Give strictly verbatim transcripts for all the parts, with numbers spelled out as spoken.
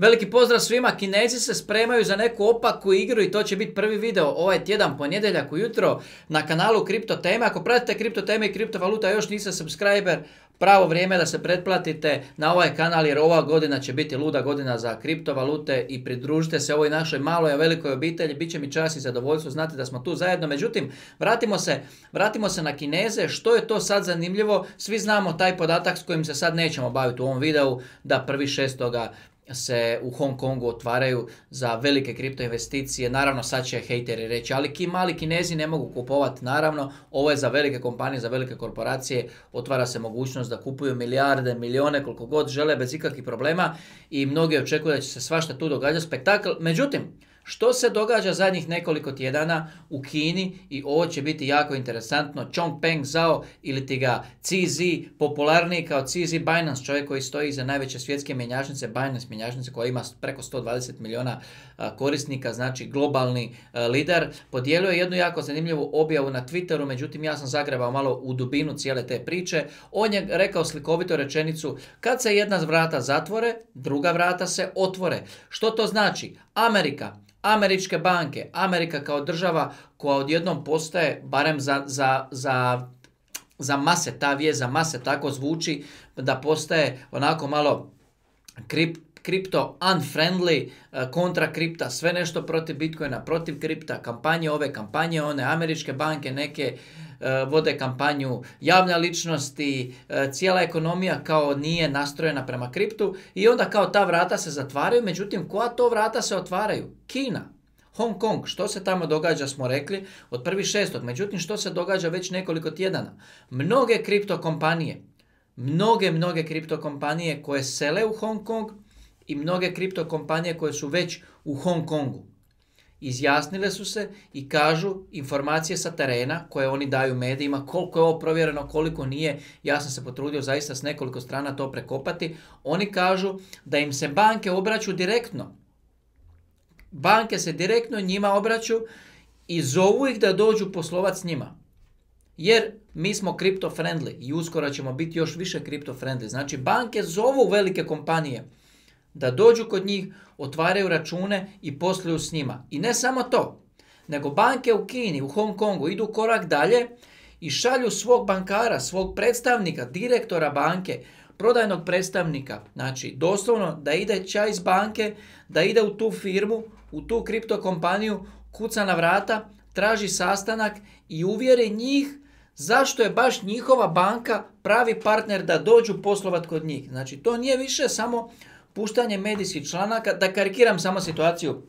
Veliki pozdrav svima, Kinezi se spremaju za neku opaku igru i to će biti prvi video ovaj tjedan, ponedjeljak ujutro na kanalu Kripto Teme. Ako pratite Kripto Teme i kriptovaluta još niste subscriber, pravo vrijeme da se pretplatite na ovaj kanal jer ova godina će biti luda godina za kriptovalute i pridružite se ovoj našoj maloj a velikoj obitelji. Biće mi čast i zadovoljstvo, znate da smo tu zajedno. Međutim, vratimo se, vratimo se na Kineze. Što je to sad zanimljivo? Svi znamo taj podatak s kojim se sad nećemo baviti u ovom videu, da prvi šestoga se u Hong Kongu otvaraju za velike kripto investicije. Naravno sad će hejteri reći, ali ki mali Kinezi ne mogu kupovati. Naravno, ovo je za velike kompanije, za velike korporacije, otvara se mogućnost da kupuju milijarde, milijone, koliko god žele bez ikakvih problema i mnogi očekuju da će se svašta tu događati, spektakl. Međutim, što se događa zadnjih nekoliko tjedana u Kini i ovo će biti jako interesantno. Changpeng Zhao ili ti ga C Z, popularniji kao C Z Binance, čovjek koji stoji iza najveće svjetske mjenjačnice, Binance mjenjačnice koja ima preko sto dvadeset milijuna korisnika, znači globalni lider, podijelio je jednu jako zanimljivu objavu na Twitteru, međutim ja sam zagrebao malo u dubinu cijele te priče. On je rekao slikovito rečenicu, kad se jedna vrata zatvore, druga vrata se otvore. Što to znači? Amerika, američke banke, Amerika kao država koja odjednom postaje, barem za, za, za, za mase, ta vijest za mase tako zvuči, da postaje onako malo krip, kripto unfriendly, kontra kripta, sve nešto protiv Bitcoina, protiv kripta, kampanje ove, kampanje one, američke banke neke vode kampanju, javne ličnosti, cijela ekonomija kao nije nastrojena prema kriptu i onda kao ta vrata se zatvaraju. Međutim, koja to vrata se otvaraju? Kina, Hong Kong, što se tamo događa smo rekli od prvog šestog. Međutim, što se događa već nekoliko tjedana? Mnoge kripto kompanije, mnoge, mnoge kripto kompanije koje sele u Hong Kong i mnoge kripto kompanije koje su već u Hong Kongu izjasnile su se i kažu informacije sa terena koje oni daju medijima, koliko je ovo provjereno, koliko nije. Ja sam se potrudio zaista s nekoliko strana to prekopati. Oni kažu da im se banke obraću direktno. Banke se direktno njima obraću i zovu ih da dođu poslovati s njima. Jer mi smo kripto friendly i uskoro ćemo biti još više kripto friendly. Znači banke zovu velike kompanije da dođu kod njih, otvaraju račune i posluju s njima. I ne samo to, nego banke u Kini, u Hong Kongu idu korak dalje i šalju svog bankara, svog predstavnika, direktora banke, prodajnog predstavnika, znači doslovno da ide čaj iz banke, da ide u tu firmu, u tu kripto kompaniju, kuca na vrata, traži sastanak i uvjeri njih zašto je baš njihova banka pravi partner da dođu poslovat kod njih. Znači to nije više samo puštanje medijskih članaka, da karikiram samo situaciju.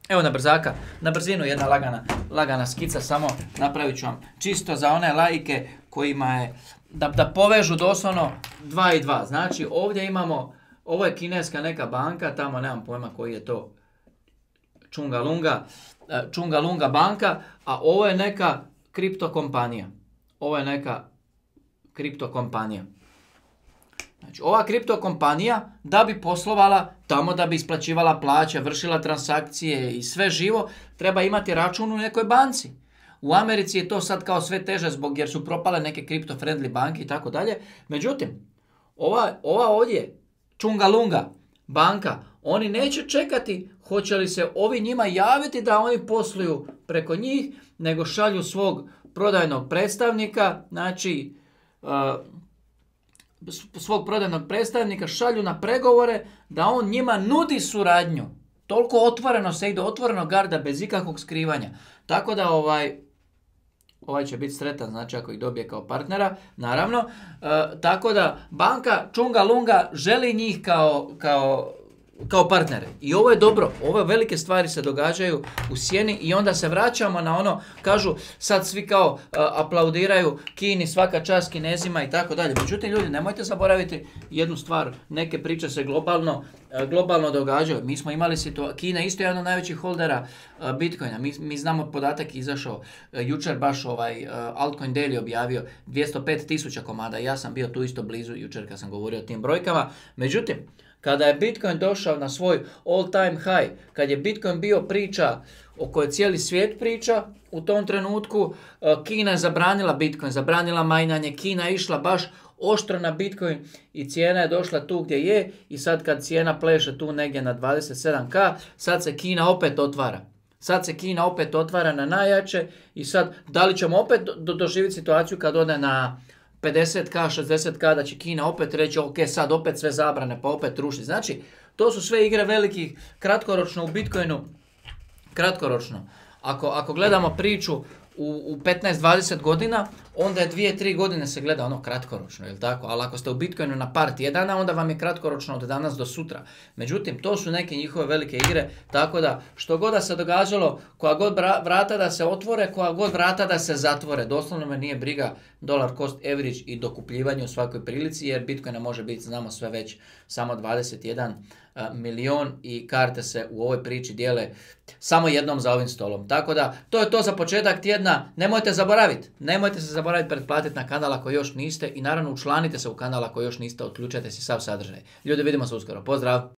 Evo na brzaka, na brzinu jedna lagana, lagana skica, samo napravit ću vam čisto za one laike kojima je, da, da povežu doslovno dva i dva. Znači ovdje imamo, ovo je kineska neka banka, tamo nemam pojma koji je to, Chungalunga, Chungalunga banka, a ovo je neka kripto kompanija. Ovo je neka kripto kompanija. Znači, ova kripto kompanija da bi poslovala tamo, da bi isplaćivala plaće, vršila transakcije i sve živo, treba imati račun u nekoj banci. U Americi je to sad kao sve teže zbog jer su propale neke kripto friendly banke i tako dalje. Međutim, ova, ova ovdje Chungalunga banka, oni neće čekati hoće li se ovi njima javiti da oni posluju preko njih, nego šalju svog prodajnog predstavnika, znači uh, svog prodajnog predstavnika šalju na pregovore da on njima nudi suradnju. Toliko otvoreno se ide, otvoreno garda bez ikakvog skrivanja. Tako da ovaj, ovaj će biti sretan, znači ako ih dobije kao partnera, naravno. E, tako da banka Chungalunga želi njih kao, kao, kao partnere. I ovo je dobro, ove velike stvari se događaju u sjeni i onda se vraćamo na ono, kažu sad svi kao uh, aplaudiraju Kini, svaka čast Kinezima i tako dalje. Međutim ljudi, nemojte zaboraviti jednu stvar, neke priče se globalno, uh, globalno događaju. Mi smo imali situaciju, Kina je isto jedan od najvećih holdera uh, Bitcoina. Mi, mi znamo podatak izašao uh, jučer baš ovaj uh, Altcoin Daily objavio dvjesto pet tisuća komada. Ja sam bio tu isto blizu jučer kad sam govorio o tim brojkama. Međutim, kada je Bitcoin došao na svoj all time high, kad je Bitcoin bio priča o kojoj cijeli svijet priča, u tom trenutku Kina je zabranila Bitcoin, zabranila majnanje, Kina je išla baš oštro na Bitcoin i cijena je došla tu gdje je i sad kad cijena pleše tu negdje na dvadeset sedam ka, sad se Kina opet otvara. Sad se Kina opet otvara na najjače i sad da li ćemo opet do, doživjeti situaciju kad ode na pedeset ka, šezdeset ka, da će Kina opet reći ok, sad opet sve zabrane pa opet ruši. Znači, to su sve igre velikih, kratkoročno u Bitcoinu, kratkoročno. Ako, ako gledamo priču u, u petnaest dvadeset godina, onda je dvije tri godine se gleda ono kratkoročno, jel tako? Ali ako ste u Bitcoinu na par tjedana, onda vam je kratkoročno od danas do sutra. Međutim, to su neke njihove velike igre, tako da što god da se događalo, koja god vrata da se otvore, koja god vrata da se zatvore, doslovno me nije briga dollar cost average i dokupljivanje u svakoj prilici, jer Bitcoina može biti, znamo sve već, samo dvadeset jedan uh, milion i karte se u ovoj priči dijele samo jednom za ovim stolom. Tako da, to je to za početak tjedna. Nemojte zaboraviti, nemojte se zaboraviti pretplatiti na kanal ako još niste i naravno učlanite se u kanal ako još niste, otključajte si sav sadržaj. Ljudi, vidimo se uskoro. Pozdrav!